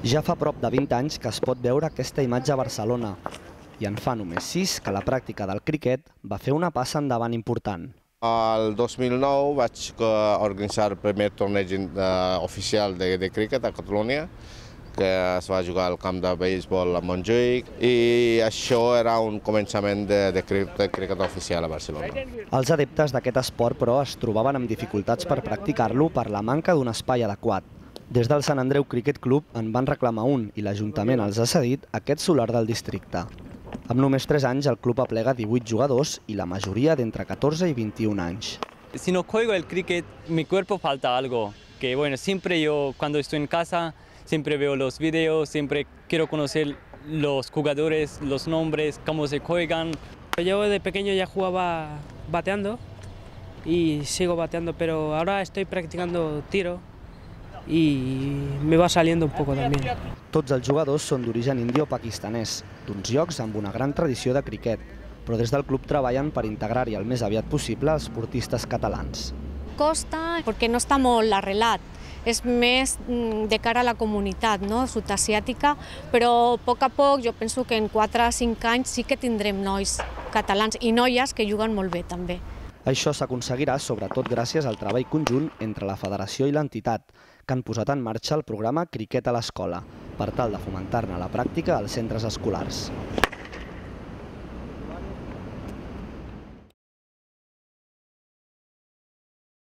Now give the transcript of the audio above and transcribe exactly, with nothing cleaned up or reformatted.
Ja fa prop de vint anys que es pot veure aquesta imatge a Barcelona i en fa només sis que la pràctica del criquet va fer una passa endavant important. El dos mil nou vaig organitzar el primer torneig oficial de criquet a Catalunya, que es va jugar al camp de béisbol a Montjuïc, i això era un començament de criquet oficial a Barcelona. Els adeptes d'aquest esport, però, es trobaven amb dificultats per practicar-lo per la manca d'un espai adequat. Des del Sant Andreu Cricket Club en van reclamar un i l'Ajuntament els ha cedit aquest solar del districte. Amb només tres anys, el club aplega divuit jugadors i la majoria d'entre catorze i vint-i-un anys. Si no juego el cricket, mi cuerpo falta algo. Que bueno, siempre yo cuando estoy en casa, siempre veo los videos, siempre quiero conocer los jugadores, los nombres, cómo se juegan. Yo de pequeño ya jugaba bateando y sigo bateando, pero ahora estoy practicando tiro i me va saliendo un poco también. Tots els jugadors són d'origen indi o pakistanès, d'uns llocs amb una gran tradició de criquet, però des del club treballen per integrar-hi el més aviat possible els esportistes catalans. Costa perquè no està molt arrelat, és més de cara a la comunitat sud-asiàtica, però a poc a poc jo penso que en quatre o cinc anys sí que tindrem nois catalans i noies que juguen molt bé també. Això s'aconseguirà sobretot gràcies al treball conjunt entre la federació i l'entitat, que han posat en marxa el programa Criquet a l'Escola, per tal de fomentar-ne la pràctica als centres escolars.